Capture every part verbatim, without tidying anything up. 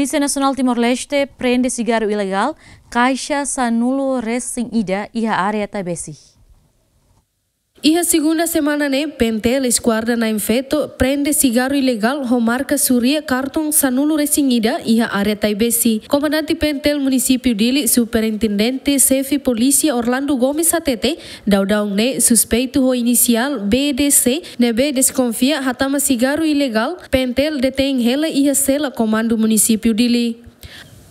Polísia Nasionál Timor-Leste prende sigarru ilegál kaixa sanulu resin ida iha área Taibesi. Iha segunda semana ne'e, PNTL Eskuadra Na'in Feto prende sigarru ilegál ho marka suria karton sanulu resin ida iha área Taibesi. Komandante PNTL Munisípiu Dili, Superintendente Xefe Polísia Orlando Gomes hatete, daudaun ne'e suspeitu ho inisiál B D C ne'ebé deskonfia hatama sigarru ilegál, PNTL detein hela iha sela Komandu Munisípiu Dili.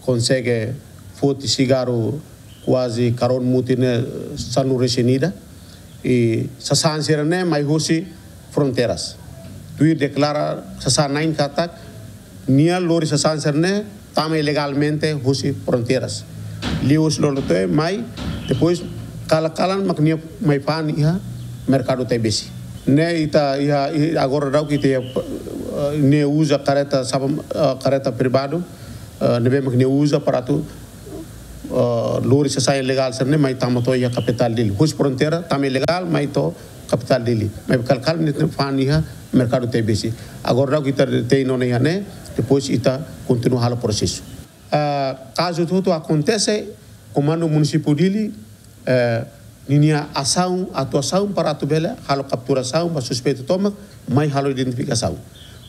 Konsege foti sigarru kuaze karón mutin ne'e sanulu resin ida. I sasán sira-ne'e mai husi fronteiras. Tuir deklara sasán na'in katak nia lori sasán sira-ne'e tama ilegalmente husi fronteiras. Liuhusi lolotoe mai, depois kalan-kalan mak nia mai fa'an iha merkadu Taibesi. Ne'e ita iha, i agora daudaun ita iha, eh, nia uza kareta sapa, eh, kareta privadu, eh, ne'ebé mak nia uza para atu, eh, lori sasán ilegál sira-ne'e mai tama to'o iha kapitál Dili. Husi fronteira tama ilegál mai to'o kapitál Dili. Mai kalan-kalan nia fa'an iha merkadu Taibesi. Agora daudaun ita detein ona iha ne'e, depois ita kontinua halo prosesu. Eh, kazu hotu-hotu akontese, Komandu Munisípiu Dili, eh, ninia asaun, atuasaun para atu bele halo kapturasaun ba suspeitu tomak, mai halo identifikasaun.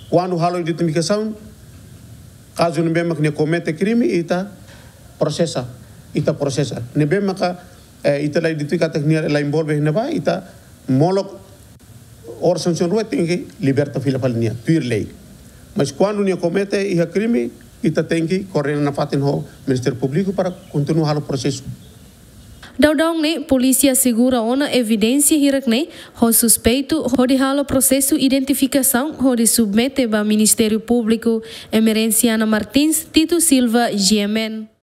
Kuandu halo identifikasaun, kazu ne'ebé mak nia komete krime, ita prosesa, ita prosesa. Ne'ebé maka, eh, ita la identifika katak nia la envolve iha ne'ebá, ita molok oras sansaun rua tenke liberta fila fali nia, tuir lei. Mas kuandu nia komete iha krime, ita tenke koordena nafatin ho Ministériu Públiku para kontinua halo prosesu. Daudaun ne'e, polísia asegura ona evidénsia hirak-ne'e ho suspeitu hodi halo prosesu identifikasaun hodi submete ba Ministériu Públiku. Emerenciana Martins, Tito Silva, G M N.